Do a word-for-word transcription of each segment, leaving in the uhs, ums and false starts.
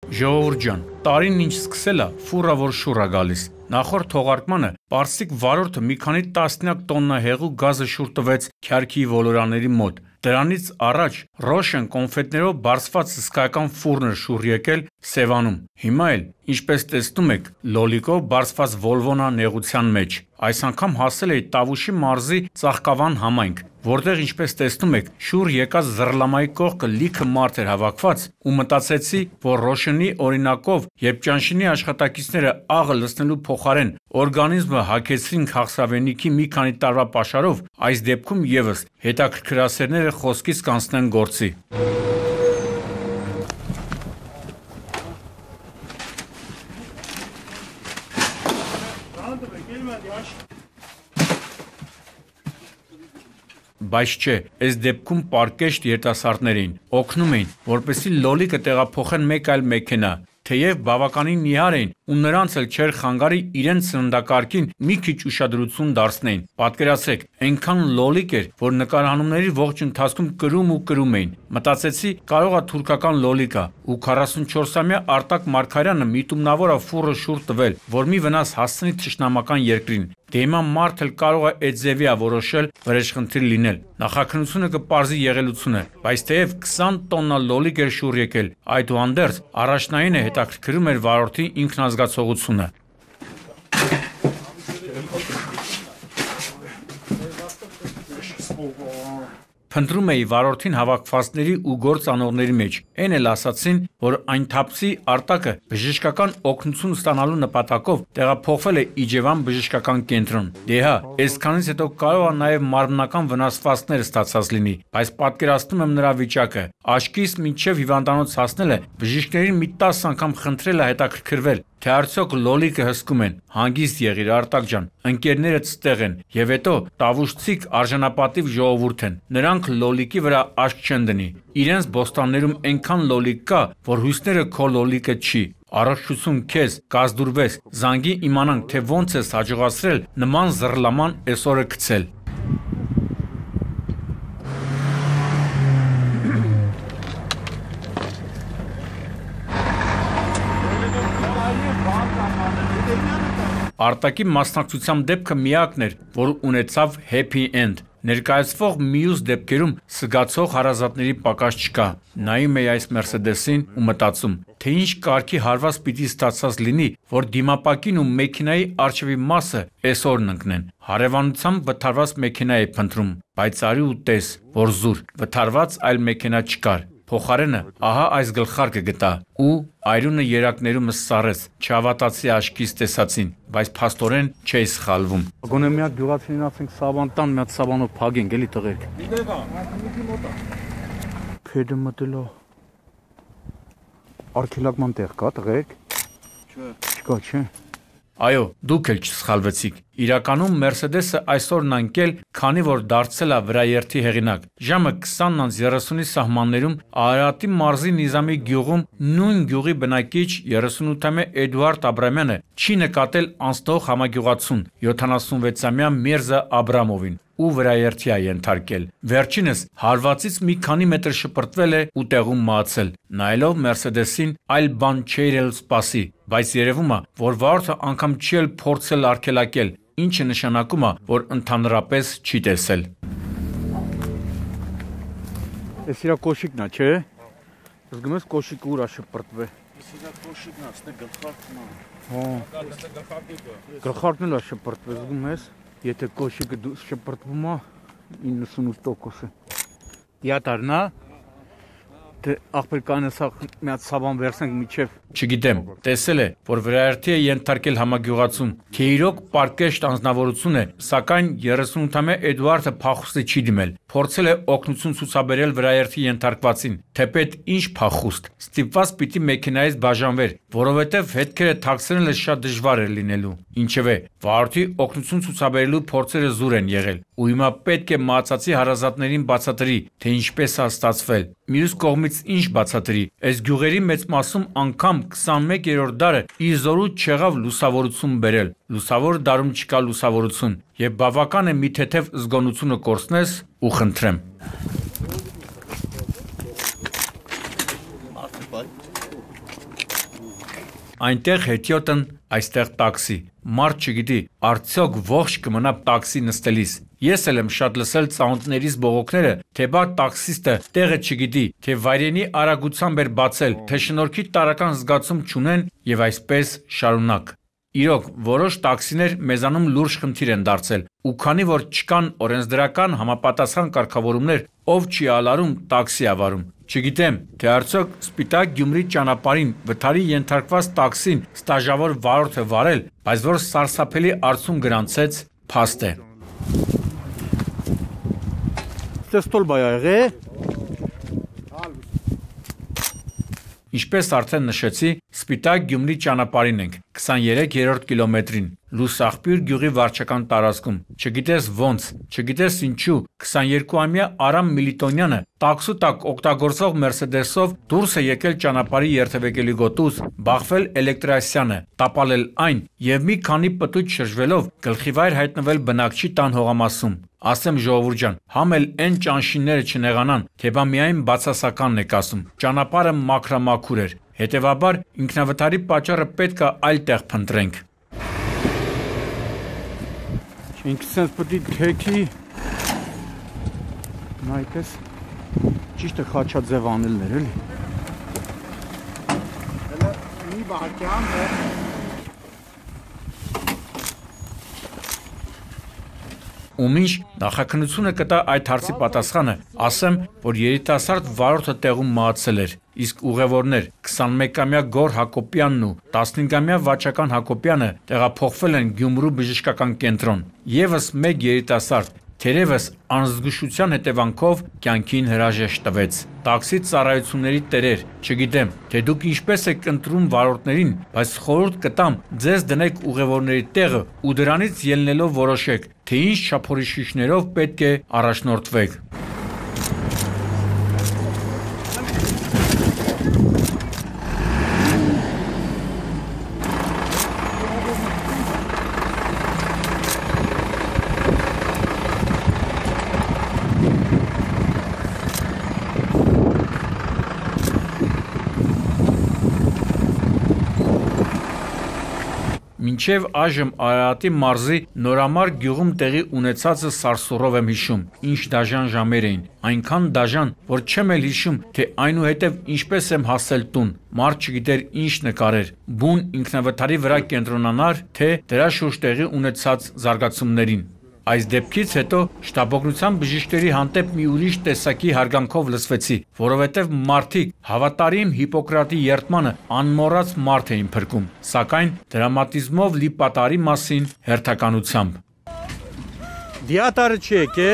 Ժողովուրդ ջան, տարին ինչ սկսել է, ֆուռա որ շուռ է գալիս։ Նախորդ թողարկմանը պարսիկ վարորդը մի քանի տասնյակ տոննա հեղուկ գազը շուռ տվեց Քյարքի ոլորանների մոտ։ Դրանից առաջ Ռոշեն կոնֆետներով բարսված հսկայական ֆուրն էր շուռ եկել Սևանում։ Հիմա էլ, ինչպես տեսնում եք, լոլիկով բարսված Վոլվոնա նեղության մեջ։ Այս անգամ հասել էի Տավուշի մարզի Ծաղկավան համայնք, որտեղ ինչպես տեսնում եք, շուռ եկած Զռլամայի կողքը լիքը մարդ էր հավաքված ու մտածեցի, որ Ռոշենի օրինակով, երբ ճանշինի աշխատակիցները աղը լցնելու փոխարեն օրգանիզմը հագեցրին քաղցրավենիքի մի քանի տարվա պաշարով, այս դեպքում եւս հետաքրքրասերները խոսքից կանցնեն գործի։ Բայց չէ, այս դեպքում պարկեշտ երիտասարդներ էին, օգնում էին, որպեսզի լոլիկը տեղափոխեն մեկ այլ մեքենա, թեև բավականին նիհար էին ու նրանց էլ չէր խանգարի իրենց սննդակարգին մի քիչ ուշադրություն դարձնեին։ Պատկերացրեք, այնքան լոլիկ էր, որ նկարահանումների ողջ ընթացքում կրում ու կրում էին։ Մտածեցի, կարող է թուրքական լոլիկ է, ու քառասունչորսամյա Արտակ Մարգարյանը միտումնավոր է ֆուռը շուռ տվել, որ մի վնաս հասցնի թշնամական երկրին։ Դե հիմա մարդ էլ կարող է այդ ձևի է որոշել վրեժխնդիր լինել։ Նախաքննությունը կպարզի եղելությունը, բայց թեև քսան տոննա լոլիկ էր շուռ եկել, այդուհանդերձ առաջնային է հետաքրքրում էր վարորդի ինքնազգացողությունը։ Փնտրում էի վարորդին հավաքվածների ու գործանողների մեջ, այն էլ ասացին, որ այն թափսի Արտակը բժշկական օգնություն ստանալու նպատակով տեղափոխվել է Իջևան բժշկական կենտրոն։ Դե հա, այսքանից հետո կարող է նաև մարմնական վնասվածքներ ստացած լինի, բայց պատկերացնում եմ նրա վիճակը։ Աչքիս մինչև հիվանդանոց հասնելը բժիշկներին մի տասը անգամ խնդրել է հետաքրքրվել, թե արդյոք լոլիկը հսկում են։ Հանգիստ եղիր, Արտակ ջան, ընկերներդ ստեղ են, եւ հետո տավուշցիք արժանապատիվ ժողովուրդ են։ Նրանք լոլիկի վրա աչք չեն դնի։ Իրենց բոստաններում այնքան լոլիկ կա, որ հույսները քո լոլիկը չի։ Առողջություն քեզ, կազդուրվես, զանգի իմանանք, թե ոնց ես հաջողացրել նման զռլաման այսօրը գցել։ Արտակի մասնակցության դեպքը միակն էր, որ ունեցավ happy end։ Ներկայացվող մյուս դեպքերում սգացող հարազատների պակաս չկա։ Նայում էի այս Մերսեդեսին ու մտածում, թե ինչ կարգի հարված պիտի ստացած լինի, որ դիմապակին ու մեքենայի առջևի մասը այսօրն ընկնեն։ Հարևանությամբ վթարված մեքենա է փնտրում, բայց արի ու տես, որ զուր, վթարված այլ մեքենա չկար։ Փոխարենը ահա այս գլխարկը գտա ու այրունը երակներումս սառեց, չհավատացի աչքիս տեսածին, բայց փաստորեն չէի սխալվում։ Գոնե մի հատ գյուղացին ասենք սավան տան, մի հատ սավանով փագենք, էլի տղերք։ Փեդը մտելո։ Արքելակման տեղ կա տղերք։ Չէ։ Չկա, չէ։ Այո, դուք էլ չսխալվեցիք։ Իրականում Մերսեդեսը այսօրն անկել, քանի որ դարձել է վրաերթի հեղինակ։ Ժամը քսանն անց երեսունի սահմաններում Արարատի մարզի Նիզամի գյուղում նույն գյուղի բնակիչ երեսունութամյա Էդուարդ Աբրամյանը չի նկատել անցնող համագյուղացուն յոթանասունվեցամյա Միրզա Աբրամովին ու վրաերթի է ենթարկել։ Վերջինս հարվածից մի քանի մետր շպրտվել է ու տեղում մահացել։ Նայելով Մերսեդեսին այլ բան չէր էլ սպասի, բայց երևում է, որ վարորդը անգամ չի էլ փորձել արգելակել, ինչը նշանակում է, որ ընդհանրապես չի տեսել։ Էս իրա կոշիկն է, չէ՞։ Զգում ես կոշիկը ուր է շպրտվել։ Էս իրա կոշիկն է, ստե գլխարկն է։ Հա։ Գլխարկն էլ է շպրտվել, զգում ես։ Եթե կոշիկը շպրտվում է, իննսունութ տոկոս է։ Դիատարն է։ Թե աղբեր կանես մի հատ սավան վերցնենք միջև։ Չգիտեմ, տեսել է, որ վրաերթի է ենթարկել համագյուղացուն, թե իրոք պարկեշտ անձնավորություն է, սակայն երեսունութամյա Էդուարդը փախուստի չի դիմել, փորձել է օգնություն ցուցաբերել վրաերթի ենթարկվածին, թեպետ ինչ փախուստ, ստիպված պիտի մեքենայից բաժանվեր, որովհետև հետքերը թաքցնելը շատ դժվար էր լինելու։ Ինչևէ, վարորդի օգնություն ցուցաբերելու փորձերը զուր են եղել, ու հիմա պետք է մահացածի հարազատներին բացատրի, թե ինչպես է ստացվել։ Մյուս կողմից ինչ բացատրի, այս գյուղերի մեծ մասում անգամ քսանմեկերորդ դարը իր զորու չեղավ լուսավորություն բերել։ Լուսավոր դարում չկա լուսավորություն, եւ բավական է մի թեթև զգոնությունը կորցնես ու խնդրեմ։ Այնտեղ հետիոտն, այստեղ տաքսի։ Մարդ չգիտի, արդյոք ողջ կմնա տաքսի նստելիս։ Ես էլ եմ շատ լսել ծանոթներիս բողոքները, թե բա տաքսիստը տեղը չգիտի, թե վայրենի արագությամբ էր բացել, թե շնորհքի տարրական զգացում չունեն եւ այսպես շարունակ։ Իրոք, որոշ տաքսիներ մեզանում լուրջ խնդիր են դարձել, ու քանի որ չկան օրենսդրական համապատասխան կարգավորումներ, ով չի ալարում, տաքսի ավարում։ Չգիտեմ, թե արդյոք Սպիտակ Գյումրի ճանապարհին վթարի ենթարկված տաքսին ստաժավոր վարորդ է վարել, բայց որ սարսափելի արդյունք գրանցեց, փաստ է։ Ինչպես արդեն նշեցի, Սպիտակ Գյումրի ճանապարհին ենք, քսաներեքերորդ կիլոմետրին, Լուսաղբյուր գյուղի վարչական տարածքում։ Չգիտես ոնց, չգիտես ինչու, քսաներկուամյա Արամ Միլիտոնյանը տաքսու տակ օգտագործող Մերսեդեսով դուրս է եկել ճանապարհի երթևեկելի գոտուց, բախվել էլեկտրասյանը, տապալել այն եւ մի քանի պտույտ շրջվելով գլխիվայր հայտնվել բնակչի տան հողամասում։ Ասեմ ժողովուրդ ջան, համ էլ այն ճանշինները չնեղանան, թե բա միայն բացասականն եք ասում։ Ճանապարհը մաքրամաքուր էր, հետևաբար ինքնավթարի պատճառը պետք է այլ տեղ փնտրենք։ Ինքը sense պետք է թեքի նայես ճիշտ է խաչաձև անելներ էլի։ Հələ մի բաժան է։ Ումինչ նախաքննությունը կտա այդ հարցի պատասխանը, ասեմ, որ երիտասարդ վարորդը տեղում մահացել էր, իսկ ուղևորներ քսանմեկամյա Գոր Հակոբյանն ու տասնհինգամյա Վաչական Հակոբյանը տեղափոխվել են Գյումրու բժշկական կենտրոն։ Եվս մեկ երիտասարդ թերևս անզգուշության հետևանքով կյանքին հրաժեշտ տվեց։ Տաքսի ծառայությունների տերեր, չգիտեմ, թե դուք ինչպես եք ընտրում վարորդներին, բայց խորհուրդ կտամ ձեզ դնեք ուղևորների տեղը ու դրանից ելնելով որոշեք, թե ինչ չափորոշիչներով պետք է առաջնորդվեք։ Մինչև այժմ Արարատի մարզի Նորամար գյուղում տեղի ունեցածը սարսուռով եմ հիշում, ինչ դաժան ժամեր էին, այնքան դաժան, որ չեմ էլ հիշում, թե այնուհետև ինչպես եմ հասել տուն, մարդ չգիտեր ինչ նկարեր, բուն ինքնավթարի վրա կենտրոնանար, թե դրա շուրջ տեղի ունեցած զարգացումներին։ Այս դեպքից հետո շտաբօգնության բժիշկների հանդեպ մի ուրիշ տեսակի հարգանքով լսվեցի, որովհետև մարդիկ հավատարիմ Հիպոկրատի երդմանը անմոռաց մարդ էին փրկում, սակայն դրամատիզմով լի պատարի մասին հերթականությամբ։ Դիատարը չի եկե։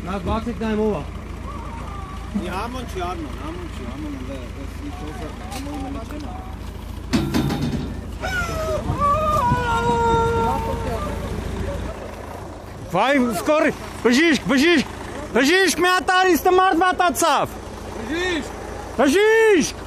Նա բացեք նայում ով է։ Համոն չի արմոն, համոն չի, համոն էլ էս ինչ օսը, համոն էլ չեմ։ Վայ, սկորի, բժիշկ, բժիշկ, բժիշկ մի հատ արիստը մարդ վատացավ։ Բժիշկ, բժիշկ,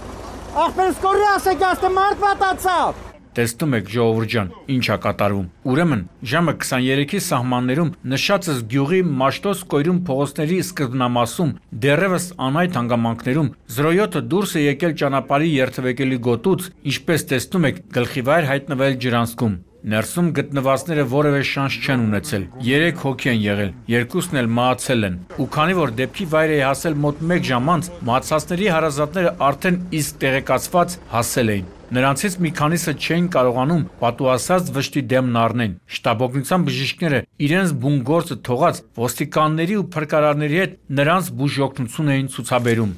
ախպեր սկորի ասեք աստը մարդ վատացավ։ Տեսնում եք ժողովուրդ ջան, ինչ է կատարվում։ Ուրեմն ժամը քսաներեքի սահմաններում նշածս գյուղի Մաշտոց կոյրում փողոցների սկզբնամասում դեռևս անհայտ հանգամանքներում զրոյոտը դուրս է եկել ճանապարհի երթևեկելի գոտուց, ինչպես տեսնում եք, գլխիվայր հայտնվել ջրանցքում։ Ներսում գտնվածները որևէ շանս չեն ունեցել։ Երեք հոգի են եղել, երկուսն էլ մահացել են։ Ու քանի որ դեպքի վայր է հասել մոտ մեկ ժամ անց, մահացածների հարազատները արդեն իսկ տեղեկացված հասել էին։ Նրանցից մի քանիսը չէին կարողանում պատուհասած վշտի դեմն առնեն։ Շտաբօգնության բժիշկները իրենց բուն գործը թողած ոստիկանների ու փրկարարների հետ նրանց բուժօգնություն էին ցուցաբերում։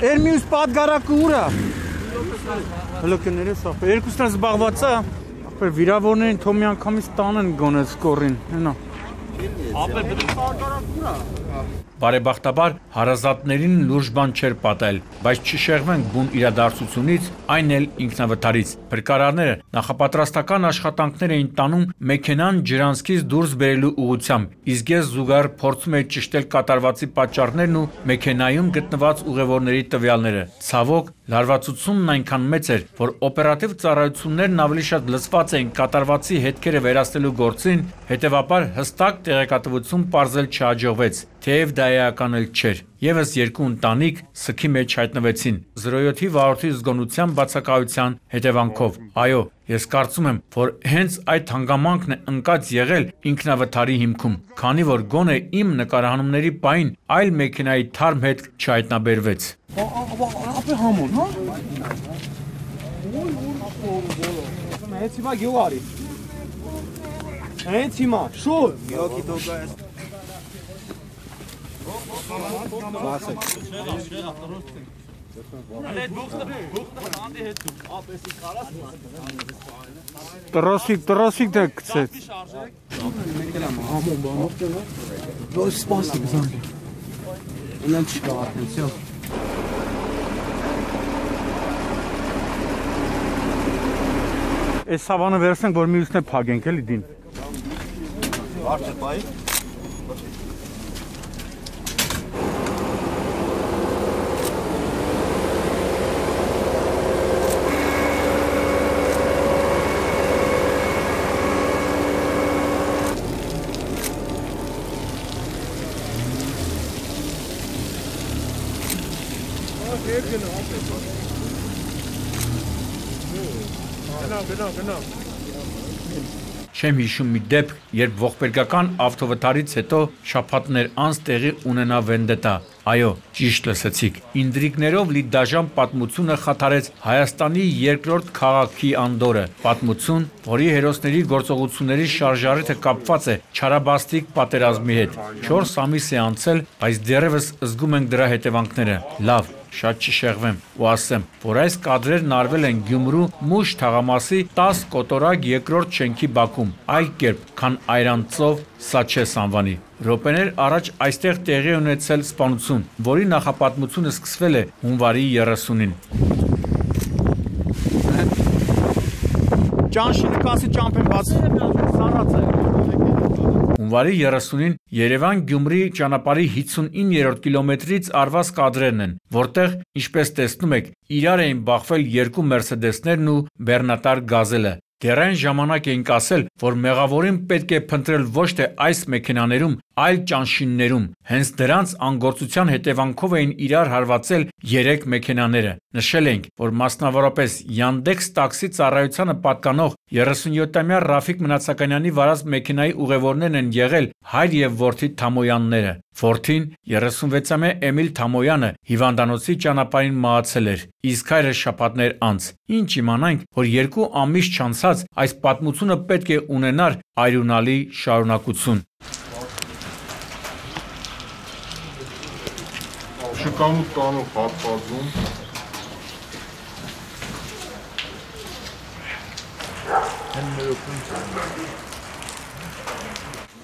Էր մյուս պատգարակը ուր է։ Հələ կներես ախպեր, երկուսն էլ զբաղված է։ Ախպեր վիրավորներին թող մի անգամից տանեն գոնե սկորին, հենա։ Ապեր պետք է պատգարակ ուր է։ Բարեբախտաբար հարազատներին լուրջ բան չէր պատահել, բայց չշեղվենք բուն իրադարձությունից, այն էլ ինքնավթարից։ Փրկարարները նախապատրաստական աշխատանքներ էին տանում մեքենան ջրանցքից դուրս բերելու ուղղությամբ, իսկ ես զուգահեռ փորձում էի ճշտել կատարվածի պատճառներն ու մեքենայում գտնված ուղևորների տվյալները։ Ցավոք, լարվածությունն այնքան մեծ էր, որ օպերատիվ ծառայություններն ավելի շատ լծված էին կատարվածի հետքերը վերացնելու գործին, հետևաբար հստակ տեղեկատվություն պարզել չհաջողվեց, թեև դա էական էլ չէր։ Եվս երկու ընտանիք սքի մեջ հայտնվեցին զրո յոթ վարորդի զգոնության բացակայության հետևանքով։ Այո, ես կարծում եմ, որ հենց այդ հանգամանքն է ընկած եղել ինքնավթարի հիմքում, քանի որ գոնե իմ նկարահանումների պահին այլ մեքենայի թարմ հետ չհայտնաբերվեց։ Ապե համոն, հա։ Հենց հիմա գյուղ արի։ Հենց հիմա, շուտ։ Գյուղի դոկա է։ Տրոսիկ, տրոսիկ դե գցեց։ Ոչ սպասի գզանք։ Ունեն չկա արդեն, Այս սավանը վերցնենք, որ մյուսն է փագենք էլի դին։ Բարդ է բայ։ Չեմ հիշում մի դեպք, երբ ողբերգական ավտովթարից հետո շաբաթներ անց տեղի ունենա վենդետա։ Այո, ճիշտ լսեցիք։ Ինդրիկներով լի դաժան պատմությունը խաթարեց Հայաստանի երկրորդ քաղաքի անդորը։ Պատմություն, որի հերոսների գործողությունների շարժառիթը կապված է չարաբաստիկ պատերազմի հետ։ Չորս ամիս է անցել, բայց դեռևս զգում ենք դրա հետևանքները։ Լավ, շատ չշեղվեմ ու ասեմ, որ այս կադրերն արվել են Գյումրու Մուշ թաղամասի տաս կոտորակ երկրորդ շենքի բակում, այլ կերպ, քան Այրանցով Սաչես անվանի։ Րոպեներ առաջ այստեղ տեղի ունեցել սպանություն, որի նախապատմությունը սկսվել է հունվարի երեսունին։ Ճանշի նկասի ճամփեն բաց սառած է։ Հունվարի երեսունին Երևան-Գյումրի ճանապարհի հիսունիններորդ կիլոմետրից արված կադրերն են, որտեղ, ինչպես տեսնում եք, իրար էին բախվել երկու մերսեդեսներն ու բեռնատար գազելը։ Դեռ այն ժամանակ էինք ասել, որ մեղավորին պետք է փնտրել ոչ թե այս մեքենաներում, այլ ճանշիններում։ Հենց դրանց անգործության հետևանքով էին իրար հարվածել երեք մեքենաները։ Նշել ենք, որ մասնավորապես Yandex տաքսի ծառայությանը պատկանող երեսունյոթամյա Ռաֆիկ Մնացականյանի վարած մեքենայի ուղևորներն են եղել հայր եւ որդի Թամոյանները։ Որդին երեսունվեցամյա Էմիլ Թամոյանը հիվանդանոցի ճանապարհին մահացել էր, իսկ հայրը շաբաթներ անց։ Ինչ իմանանք, որ երկու ամիս չանցած այս պատմությունը պետք է ունենար այրունալի շարունակություն։ Շքամուտ տանող հատվածում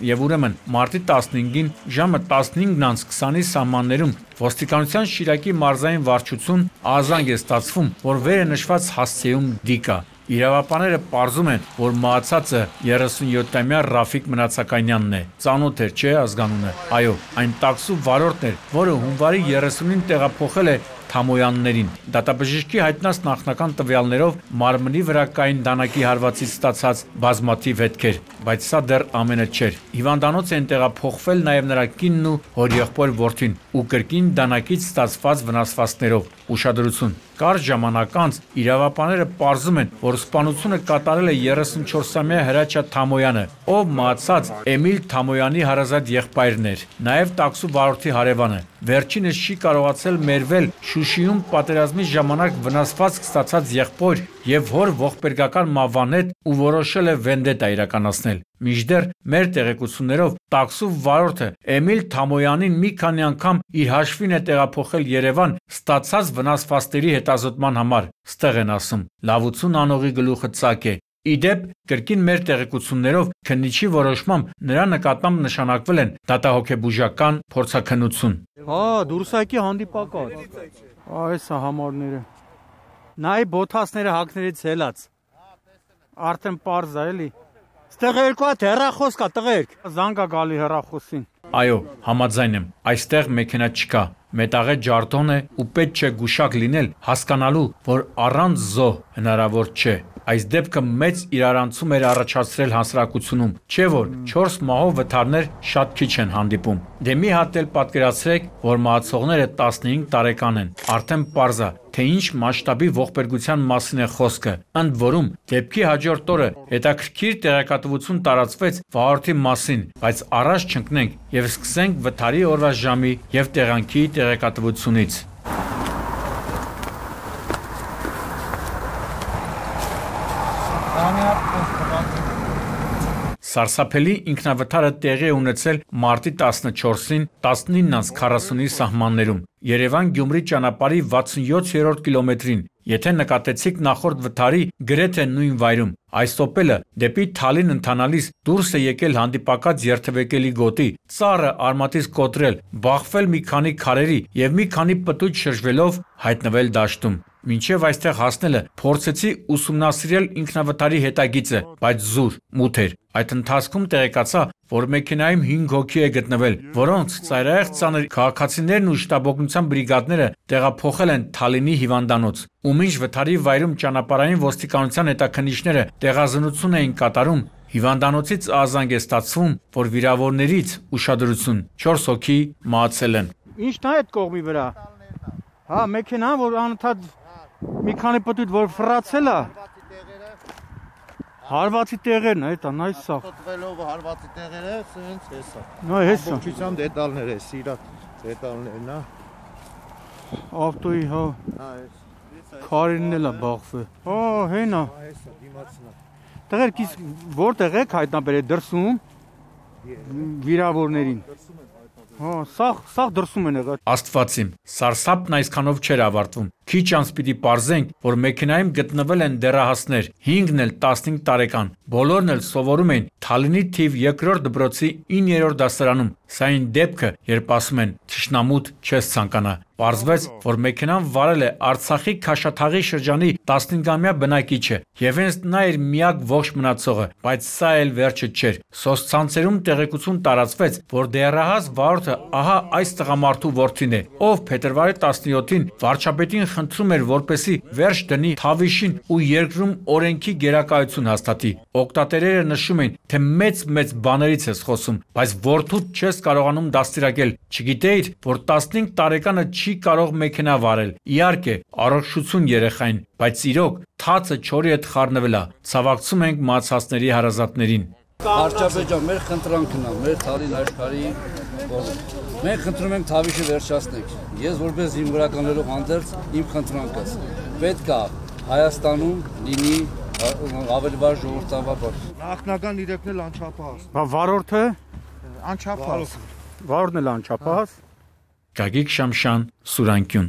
Եվ ուրեմն մարտի տասնհինգին ժամը տասնհինգ քսանի սահմաններում ոստիկանության Շիրակի մարզային վարչություն ազանգ է ստացվում, որ վերը նշված հասցեում դիկա։ Իրավապանները պարզում են, որ մահացածը երեսունյոթամյա Ռաֆիկ Մնացականյանն է։ Ծանոթ էր, չէ՞ ազգանունը։ Այո, այն տաքսու վարորդն էր, որը հունվարի երեսունին տեղափոխել է Թամոյաններին։ Դատաբժշկի հայտնած նախնական տվյալներով մարմնի վրա կային դանակի հարվածից ստացած բազմաթիվ հետքեր, բայց սա դեռ ամենը չէր։ Հիվանդանոց են տեղափոխվել նաև նրա կինն ու հորեղբոր որդին ու կրկին դանակից ստացված վնասվածքներով։ Ուշադրություն։ Կարճ ժամանակ անց իրավապանները պարզում են, որ սպանությունը կատարել է երեսունչորսամյա Հրաչյա Թամոյանը, ով մահացած Էմիլ Թամոյանի հարազատ եղբայրն էր, նաև տաքսու վարորդի հարևանը։ Վերջինս չի կարողացել մերվել Շուշիում պատերազմի ժամանակ վնասվածք ստացած եղբոր եւ հոր ողբերգական մահվան հետ ու որոշել է վենդետա իրականացնել։ Մինչդեռ մեր տեղեկություններով տաքսու վարորդը Էմիլ Թամոյանին մի քանի անգամ իր հաշվին է տեղափոխել Երևան ստացած վնասվածքների հետազոտման համար։ Ստեղ են ասում, լավություն անողի գլուխը ծակ է, Իդեպ, կրկին մեր տեղեկություններով քննիչի որոշմամբ նրա նկատմամբ նշանակվել են դատահոգեբուժական փորձաքննություն։ Հա, դուրսակի հանդիպակաց։ Այս է համարները։ Նայ բոթասները հակներից հելած։ Արդեն պարզ է, էլի։ Ստեղ երկու հատ հեռախոս կա, տղերք։ Զանգա գալի հեռախոսին։ Այո, համաձայն եմ, այստեղ մեքենա չկա, մետաղե ջարդոն է ու պետք չէ գուշակ լինել հասկանալու, որ առանց զոհ հնարավոր չէ։ Այս դեպքը մեծ իրարանցում էր առաջացրել հասարակությունում, չէ որ չորս մահով վթարներ շատ քիչ են հանդիպում։ Դե մի հատ էլ պատկերացրեք, որ մահացողները տասնհինգ տարեկան են, արդեն պարզ է, թե ինչ մասշտաբի ողբերգության մասին է խոսքը։ Ընդ որում, դեպքի հաջորդ օրը հետաքրքիր տեղեկատվություն տարածվեց վարորդի մասին, բայց առաջ չընկնենք եւ սկսենք վթարի օրվա ժամի եւ տեղանքի տեղեկատվությունից։ Սարսափելի ինքնավթարը տեղի է ունեցել մարտի տասնչորսին տասնինը քառասունի սահմաններում Երևան-Գյումրի ճանապարհի վաթսունյոթերորդ կիլոմետրին, եթե նկատեցիք նախորդ վթարի գրեթե նույն վայրում, այս օպելը դեպի Թալին ընթանալիս դուրս է եկել հանդիպակաց երթևեկելի գոտի, ծառը արմատից կոտրել, բախվել մի քանի քարերի եւ մի քանի պտույտ շրջվելով հայտնվել դաշտում։ Մինչև այստեղ հասնելը փորձեցի ուսումնասիրել ինքնավթարի հետագիծը, բայց զուր, մութ էր։ Այդ ընթացքում տեղեկացա, որ մեքենայում հինգ հոգի է գտնվել, որոնց ծայրահեղ ծանր քաղաքացիներն ու շտաբօգնության բրիգադները տեղափոխել են Թալինի հիվանդանոց։ Ու մինչ վթարի վայրում ճանապարհային ոստիկանության հետաքննիչները տեղազնություն էին կատարում, հիվանդանոցից ահազանգ է ստացվում, որ վիրավորներից ուշադրություն չորս հոգի մահացել են։ Ինչն է այդ կողմի վրա։ Հա, մեքենան, որ անընդհատ մի քանի պտույտ որ ֆրացել է։ Հարվածի տեղերն է, դա նայ սա։ Խոտվելով հարվածի տեղերը, սենց հեսա։ Նայ հեսա։ Ամբողջությամբ դետալներ է, սիրա դետալներն է։ Ավտոյի, հա։ Հա, էս։ Քարերն էլ է բախվել։ Հա, հենա։ Հեսա, դիմացնա։ Տղերք, իսկ որտեղ եք հայտնաբերել դրսում վիրավորներին։ Հա, սաղ, սաղ դրսում են եղել։ Աստվածիմ, սարսափն այսքանով չէր ավարտվում։ Քիչ անց պիտի պարզենք, որ մեքենայում գտնվել են դեռահասներ, հինգն էլ տասնհինգ տարեկան, բոլորն էլ սովորում էին Թալինի թիվ երկրորդ դպրոցի իններորդ դասարանում։ Սա այն դեպքը, երբ ասում են թշնամուտ չես ցանկանա։ Պարզվեց, որ մեքենան վարել է Արցախի Քաշաթաղի շրջանի տասնհինգամյա բնակիչը, եւ հենց նա էր միակ ողջ մնացողը, բայց սա էլ վերջը չէր։ Սոցցանցերում տեղեկություն տարածվեց, որ դեռահաս վարորդը ահա այս տղամարդու որդին է, ով փետրվարի տասնյոթին վարչապետին խնդրում էր, որպեսի վերջ դնի Թավիշին ու երկրում օրենքի գերակայություն հաստատի։ Օկտատերերը նշում են, թե մեծ-մեծ բաներից ես խոսում, բայց որդուդ չես կարողանում դաստիարակել։ Չգիտեիր, որ տասնհինգ տարեկանը չի կարող մեքենա վարել։ Իհարկե, առողջություն երեխային, բայց իրոք թացը չորի հետ խառնվել է։ Ցավակցում ենք մահացածների հարազատներին։ Վարչապետ, մեր խնդրանքն է, մեր Թալին աշխարհի, մենք խնդրում ենք Թավիշը վերջացնենք։ Ես որպես զինվորականներով հանդերձ իմ խնդրանքս պետք է Հայաստանում լինի ավելի վառ ժողովրդավար։ Նախնական իրավունքն էլ անչափահաս։ Բա վարորդը Անչափահաս։ վարորդն էլ անչափահաս։ Գագիկ Շամշան, Սուրանկյուն։